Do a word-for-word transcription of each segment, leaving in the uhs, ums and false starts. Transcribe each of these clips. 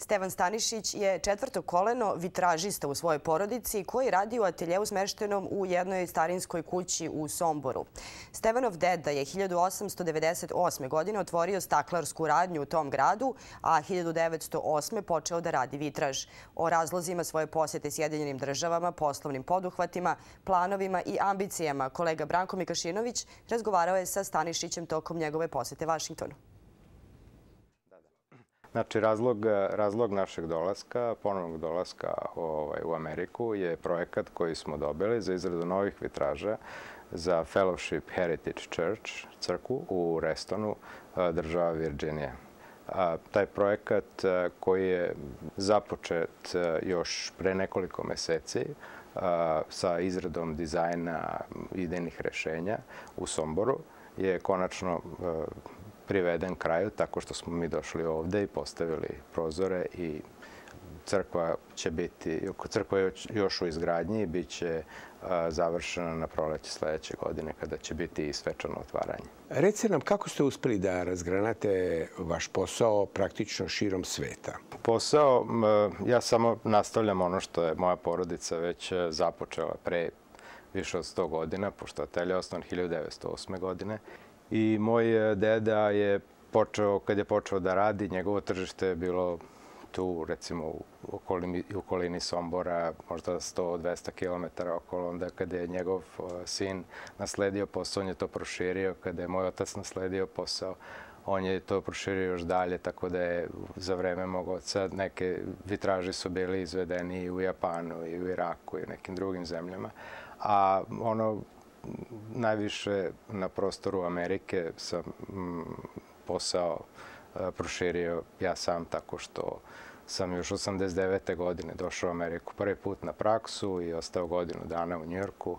Stevan Stanišić je četvrto koleno vitražista u svojoj porodici koji radi u ateljeu smeštenom u jednoj starinskoj kući u Somboru. Stevanov deda je hiljadu osamsto devedeset osme. godine otvorio staklarsku radnju u tom gradu, a hiljadu devetsto osme. počeo da radi vitraž. O razlozima svoje posete Sjedinjenim državama, poslovnim poduhvatima, planovima i ambicijama kolega Branko Mikašinović razgovarao je sa Stanišićem tokom njegove posete Vašingtonu. Znači, razlog, razlog našeg dolaska, ponovnog dolaska ovaj, u Ameriku je projekat koji smo dobili za izradu novih vitraža za Fellowship Heritage Church, crkvu u Restonu, država Virginija. A, taj projekat koji je započet još pre nekoliko meseci a, sa izradom dizajna idejnih rešenja u Somboru je konačno a, priveden kraju tako što smo mi došli ovde i postavili prozore i crkva će biti, crkva je još u izgradnji i bit će završena na proleće sledeće godine kada će biti i svečano otvaranje. Recite nam kako ste uspeli da razgranate vaš posao praktično širom sveta? Posao, ja samo nastavljam ono što je moja porodica već započela pre više od sto godina, pošto atelje je osnovan hiljadu devetsto osme. godine. I moj deda je počeo, kad je počeo da radi, njegovo tržište je bilo tu, recimo, u okolini, u okolini Sombora, možda sto do dvesta kilometara okolo. Onda kada je njegov sin nasledio posao, on je to proširio. Kada je moj otac nasledio posao, on je to proširio još dalje, tako da je za vreme mog oca neke vitraži su bili izvedeni i u Japanu, i u Iraku, i u nekim drugim zemljama. A ono, najviše na prostoru Amerike sam posao proširio ja sam tako što sam još osamdeset devete. godine došao u Ameriku prvi put na praksu i ostao godinu dana u Njujorku.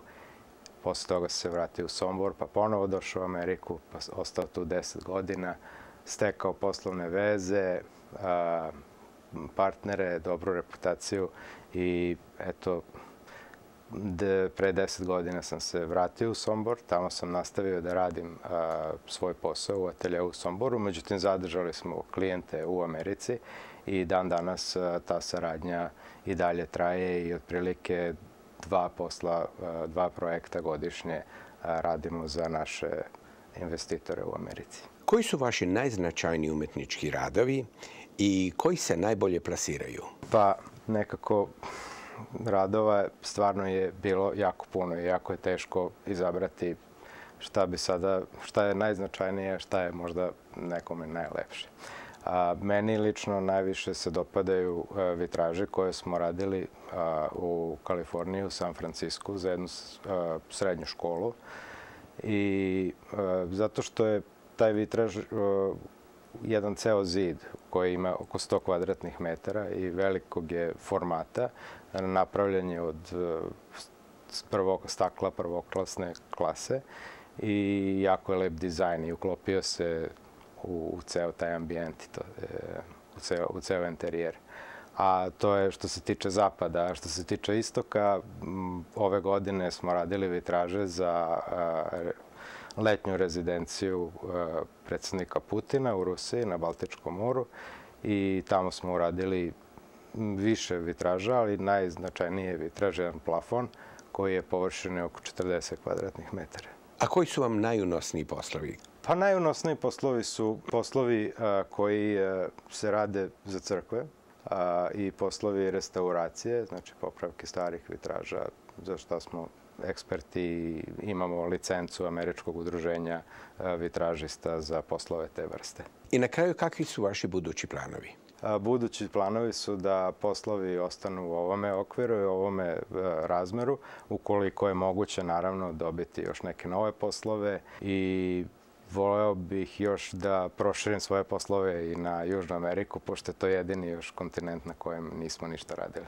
Posle toga se vratio u Sombor, pa ponovo došao u Ameriku, pa ostao tu deset godina, stekao poslovne veze, partnere, dobru reputaciju i eto, pre deset godina sam se vratio u Sombor. Tamo sam nastavio da radim a, svoj posao u ateljeu u Somboru. Međutim, zadržali smo klijente u Americi i dan danas a, ta saradnja i dalje traje i otprilike dva posla, a, dva projekta godišnje a, radimo za naše investitore u Americi. Koji su vaši najznačajniji umetnički radovi i koji se najbolje plasiraju? Pa nekako radova stvarno je bilo jako puno i jako je teško izabrati šta bi sada, šta je najznačajnije, šta je možda nekome najlepše. A, meni lično najviše se dopadaju a, vitraže koje smo radili a, u Kaliforniji, u San Francisku, za jednu a, srednju školu. I a, zato što je taj vitraž a, jedan ceo zid koji ima oko sto kvadratnih metara i velikog je formata. Napravljen je od prvog stakla prvoklasne klase i jako je lep dizajn i uklopio se u, u ceo taj ambijent, to, e, u, ceo, u ceo interijer. A to je što se tiče zapada. Što se tiče istoka, m, ove godine smo radili vitraže za a, letnju rezidenciju a, predsjednika Putina u Rusiji na Baltičkom moru i tamo smo uradili više vitraža, ali najznačajnije je vitraž, jedan plafon koji je površine oko četrdeset kvadratnih metara. A koji su vam najunosniji poslovi? Pa najunosniji poslovi su poslovi a, koji a, se rade za crkve a, i poslovi restauracije, znači popravke starih vitraža, za što smo eksperti i imamo licencu Američkog udruženja a, vitražista za poslove te vrste. I na kraju, kakvi su vaši budući planovi? Budući planovi su da poslovi ostanu u ovome okviru i u ovome razmeru, ukoliko je moguće naravno dobiti još neke nove poslove i voleo bih još da proširim svoje poslove i na Južnu Ameriku, pošto je to jedini još kontinent na kojem nismo ništa radili.